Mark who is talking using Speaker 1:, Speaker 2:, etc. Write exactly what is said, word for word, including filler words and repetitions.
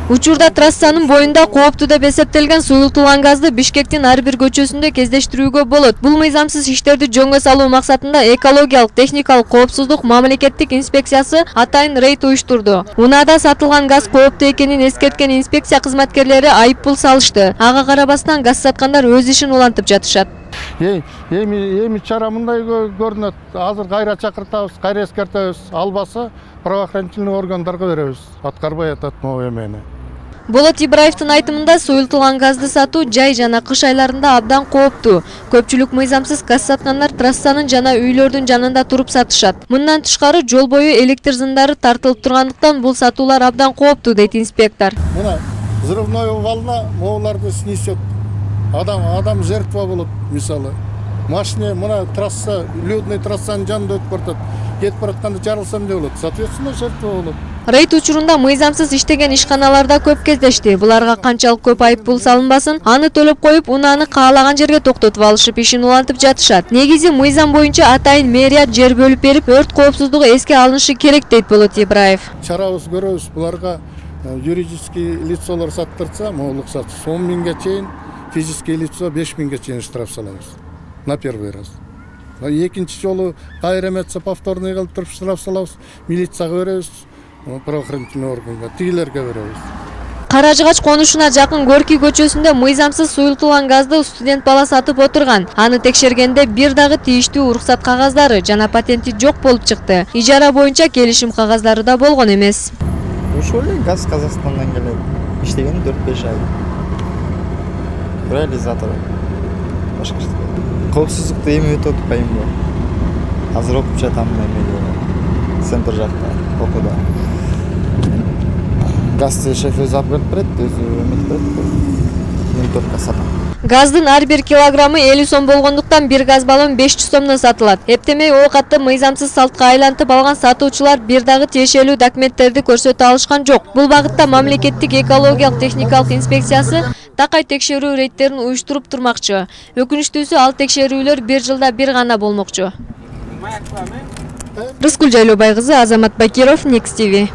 Speaker 1: Учурда трассанын боюнда кооптуу деп эсептелген суюлтулган газды Бишкектин ар бир көчөсүндө кездештирүүгө болот. Бул мыйзамсыз иштерди жөнгө салуу максатында экологиялык техникалык коопсуздук мамлекеттик инспекциясы атайын рейд уюштурду. Унаада сатылган газ кооптуу экенин эскерткен инспекция кызматкерлери айыппул салышты. Ага карабастан газ саткандар өз ишин улантып жатышат.
Speaker 2: Эми эми чара мындай көрүнөт. Азыр кайра чакыртабыз, кайра эскертебиз. Албаса правоохранительный органдарга беребиз. Аткарбай атат могу эмени.
Speaker 1: Болот Ибраевдин айтымында суюлтулган газды сатуу жай жана кыш айларында абдан кооптуу. Көпчүлүк мыйзамсыз газ саткандар трассанын жана үйлөрдүн жанында туруп сатышат. Мындан тышкары жол бою электр зындары тартылып тургандыктан бул сатуулар абдан кооптуу дейт инспектор.
Speaker 2: Мына взрывной волна моуларды снесет. Адам адам жертва болот, мисалы. Машина мына трасса, людный трассанын жанында өтүп баратат. Кетип баратканда жарылса эмне болот? Соответственно, жертва болот.
Speaker 1: Рейд учурунда мыйзамсыз иштеген ишканаларда көп кездешти. Буларга канчалык көп айыппул салынбасын, аны төлөп коюп, унааны каалаган жерге токтотуп алышып, ишин улантып жатышат. Негизи мыйзам боюнча атайын мэрият жер бөлүп берип, өрт коопсуздугу эске алынышы керек дейт Болот Ибраев.
Speaker 2: Чарабыз көрөбүз, буларга юридический лицолор саттырса, могулук сат он миңге чейин, физический лицо беш миңге чейин штраф салабыз. На первый раз. Экинчи жолу кайра эметсе повторный кылып туруп штраф салабыз, милицияга беребиз. Правоохранительный органга, тигилерге беребиз.
Speaker 1: Каражыгач конушуна жакын Горький көчөсүндө мыйзамсыз суюлтулган газды студент бала сатып отурган. Аны текшергенде бир дагы тийиштүү уруксат кагаздары жана патенти жок болуп чыкты. Ижара боюнча келишим кагаздары да болгон эмес.
Speaker 3: Ошол эле газ Казакстандан келет. Иштеген төрт беш ай. Реализатор. Башка эч нерсе. Коопсуздукту эми өтүп атпайбы? Азыр окуп жатам эмеде. Центр жакта, окууда. Газды шеф өзү алып келип берет, өзү эметип берет. Винтовка сатам.
Speaker 1: Газдын ар бир килограммы элүү сом болгондуктан бир газ баллон беш жүз сомдон сатылат. Эптемей оокатты мыйзамсыз салтка айлантып алган сатуучулар бир дагы тиешелүү документтерди көрсөтө алышкан жок. Бул багытта мамлекеттик экологиялык техникалык инспекциясы такай текшерүү рейдтерин уюштуруп турмакчы. Өкүнүчтүүсү, ал текшерүүлөр бир жылда бир гана болмокчу. Рыскүл Жайлообай кызы, Азамат Бакиров, Next ти ви.